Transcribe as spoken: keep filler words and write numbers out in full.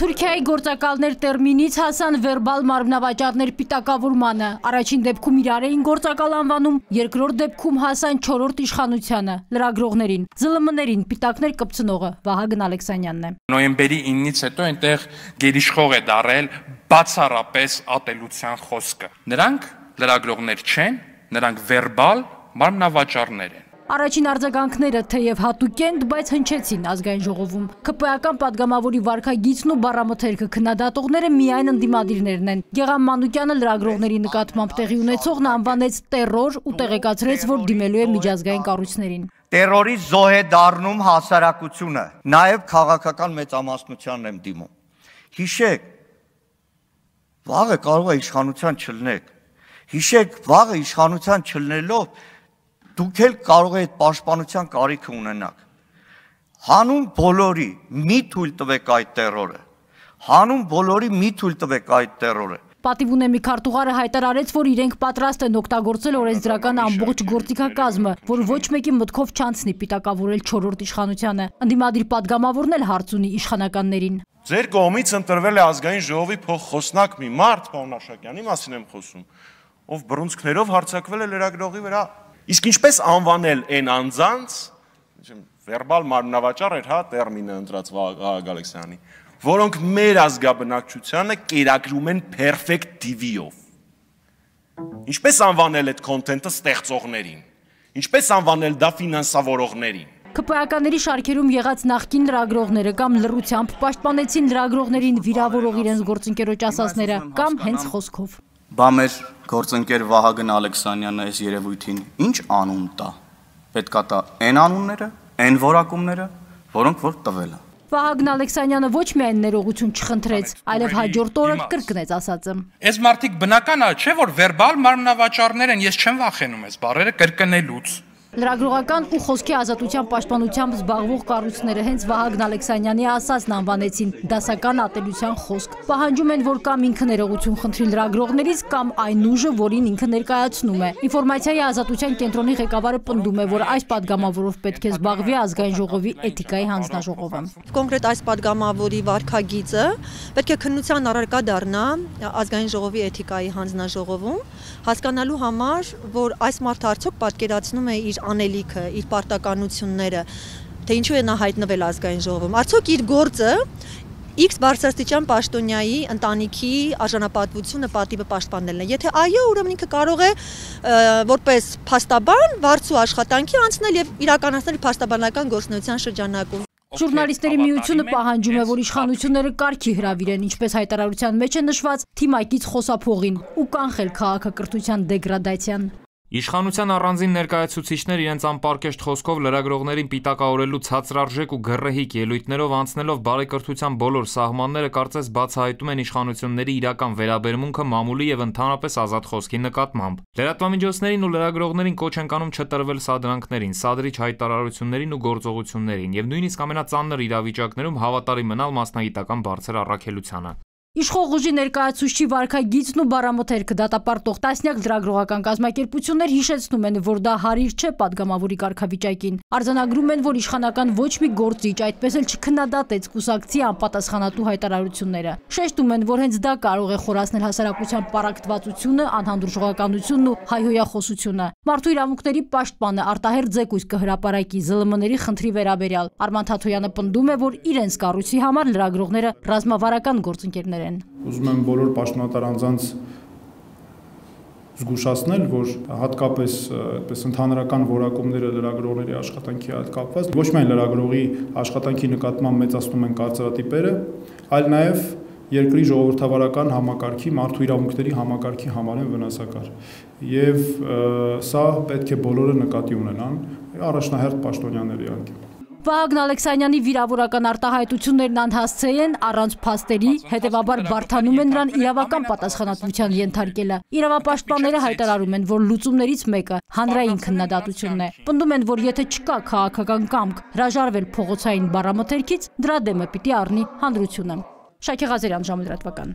Թուրքիայի գործակալներ տերմինից հասան վերբալ մարմնավաճառներ պիտակավորմանը, առաջին դեպքում իրար էին գործակալ անվանում, երկրորդ դեպքում հասան չորրորդ իշխանությանը, լրագրողներին, զլ մ-ներին պիտակներ կպցնողը Վահագն Ալեքսանյանն է։ Նոյեմբերի իննից հետո այնտեղ գերիշխող է դարել բացառապես ատելության խոսքը։ Նրանք լրագրողներ չեն, նրանք վերբալ մարմնավաճառներ են։ Առաջին արձագանքները թեև հատուկ են, բայց հնչեցին ազգային ժողովում։ ՔՊ-ական պատգամավորի վարքագիծն ու բառամթերքը քննադատողները միայն ընդդիմադիրներն են։ Գեղամ Մանուկյանը լրագրողների նկատմամբ տեղի ունեցողն անվանեց տերոր ու տեղեկացրեց, որ դիմելու է միջազգային կառույցներին։ Տերորի զոհ է դառնում հասարակությունը, նաև քաղաքական մեծամասնությանն եմ դիմում։ Հիշեք, վաղը կարող է իշխանության չլնեք։ Հիշեք, վաղը իշխանության չլնելով դուք էլ կարող եք պաշտպանության կարիքը ունենաք։ Հանուն բոլորի մի թույլ տվեք այդ տերորը։ Հանուն բոլորի մի թույլ տվեք այդ տերորը։ Պատիվ ունեմի քարտուղարը հայտարարեց, որ իրենք պատրաստ են օգտագործել օրենսդրական ամբողջ գործիքակազմը, որ ոչ մեկի մտքով չանցնի պիտակավորել չորրորդ իշխանությանը։ Ընդդիմադիր պատգամավորն էլ հարց ունի իշխանականներին։ Ձեր կողմից ընտրվել է ազգային ժողովի փոխխոսնակ մի մարդ, պարոն Աշակյանի մասին եմ խոսում, ով բռունցքներով հարձակվել է լրագրողի վրա։ Իսկ ինչպես անվանել այն անձանց, վերբալ մարմնավաճառ էր, հա, տերմինը ընտրած Վահագն Ալեքսյանի, որոնք մեր ազգաբնակչությանը կերակրում են perfect T V-ով։ Ինչպես անվանել այդ քոնթենտը ստեղծողներին, ինչպես անվանել դա ֆինանսավորողներին։ ՔՊ-ականների շարքերում եղած նախկին լրագրողները կամ լռությամբ պաշտպանեցին լրագրողներին վիրավորող իրենց գործընկերոջ ասածները, կամ հենց խոսքով։ Բա մեր գործընկեր Վահագն Ալեքսանյանը այս երևույթին ինչ անուն տա։ Պետքա տա այն անունները, այն որակումները, որոնք որ տվել է։ Վահագն Ալեքսանյանը ոչ միայն ներողություն չխնդրեց, այլև հաջորդ օրը կրկնեց ասածը։ Այս մարդիկ բնական է, չէ՞ որ վերբալ մարմնավաճառներ են, ես չեմ վախենում այս բառերը կրկնելուց։ Լրագրողական ու խոսքի ազատության պաշտպանությամբ զբաղվող կառույցները հենց Վահագն Ալեքսանյանի ասածն անվանեցին դասական ատելության խոսք։ Պահանջում են, որ կամ ինքը ներողություն խնդրի լրագրողներից, կամ այն ուժը, որին ինքը ներկայացնում է։ Ինֆորմացիայի ազատության կենտրոնի ղեկավարը պնդում է, որ այս падգամավորով պետք է զբաղվի ազգային ժողովի էթիկայի հանձնաժողովը։ Կոնկրետ այս падգամավորի վարքագիծը պետք է քննության առարկա դառնա ազգային ժողովի էթիկայի հանձնաժողովում, հասկանալու համար, որ այս մարդը արդյոք պատկերացնում է իր անելիքը, իր պարտականությունները, թե ինչու է նա հայտնվել ազգային ժողովում, արդյոք իր գործը X բարձրաստիճան պաշտոնյայի ընտանիքի արժանապատվությունը պատիվը պաշտպանելն է։ Եթե այո, ուրեմն ինքը կարող է որպես փաստաբան վարձու աշխատանքի անցնել եւ իրականացնել փաստաբանական գործունեության շրջանակում։ Ժուրնալիստների միությունը պահանջում է, որ իշխանությունները կարգի հրավիրեն, ինչպես հայտարարության մեջ է նշված, թիմակից խոսափողին ու կանխել քաղաքակրթության դեգրադացիան։ Իշխանության առանձին ներկայացուցիչներ իրենց անպարկեշտ խոսքով լրագրողներին պիտակավորելու ցածրարժեք ու գռեհիկ ելույթներով անցնելով բարեկրթության բոլոր սահմանները կարծես բացահայտում են իշխանությունների իրական վերաբերմունքը մամուլի եւ ընդհանրապես ազատ խոսքի նկատմամբ։ Լրատվամիջոցներին ու լրագրողներին կոչ են կանում չտրվել սադրանքներին, սադրիչ հայտարարություններին ու գործողություններին եւ նույնիսկ ամենածանր իրավիճակներում հավատարիմ մնալ մասնագիտական բարձր առաքելությանը։ Իշխող ուժի ներկայացուցչի վարքագիծն ու բառամթերքը դատապարտող տասնյակ լրագրողական կազմակերպություններ հիշեցնում են, որ դա հարիր չէ падգամավորի կարգավիճակին։ Արձանագրում են, որ իշխանական ոչ մի գործիչ այդպես էլ չքննադատեց կուսակցի անպատասխանատու հայտարարությունները։ Շեշտում են, որ հենց դա կարող է խորացնել հասարակության պառակտվածությունը, անհանդուրժողականությունն ու հայհոյախոսությունը։ Մարդու իրավունքների պաշտպանը արտահերթ զեկույց կհրապարակի զլ մ-ների խնդրի վերաբերյալ։ Արման Թաթոյանը պնդում է, որ իրենց կառույցի համար լրագրողները ռազմավարական գործընկերներ են։ Ուզում եմ բոլոր պաշտոնատար անձանց զգուշացնել, որ հատկապես այդպես ընդհանրական որակումները լրագրողների աշխատանքի հետ կապված ոչ միայն լրագրողի աշխատանքի նկատմամբ մեծացնում են կարծրատիպերը, այլ նաև երկրի ժողովրդավարական համակարգի, մարդու իրավունքների համակարգի համար են վնասակար։ Եվ սա պետք է բոլորը նկատի ունենան, առաջնահերթ պաշտոնյաները իհարկե։ Վահագն Ալեքսանյանի վիրավորական արտահայտություններն անհասցե են, առանց փաստերի, հետևաբար բարդանում են նրան իրավական պատասխանատվության ենթարկելը։ Իրավապաշտպանները հայտարարում են, որ լուծումներից մեկը հանրային քննադատությունն է։ Պնդում են, որ եթե չկա քաղաքական կամք հրաժարվել փողոցային բառամթերքից, դրա դեմը պիտի առնի հանրությունը։ Շակե Ղազարյան, ժամը լրատվական։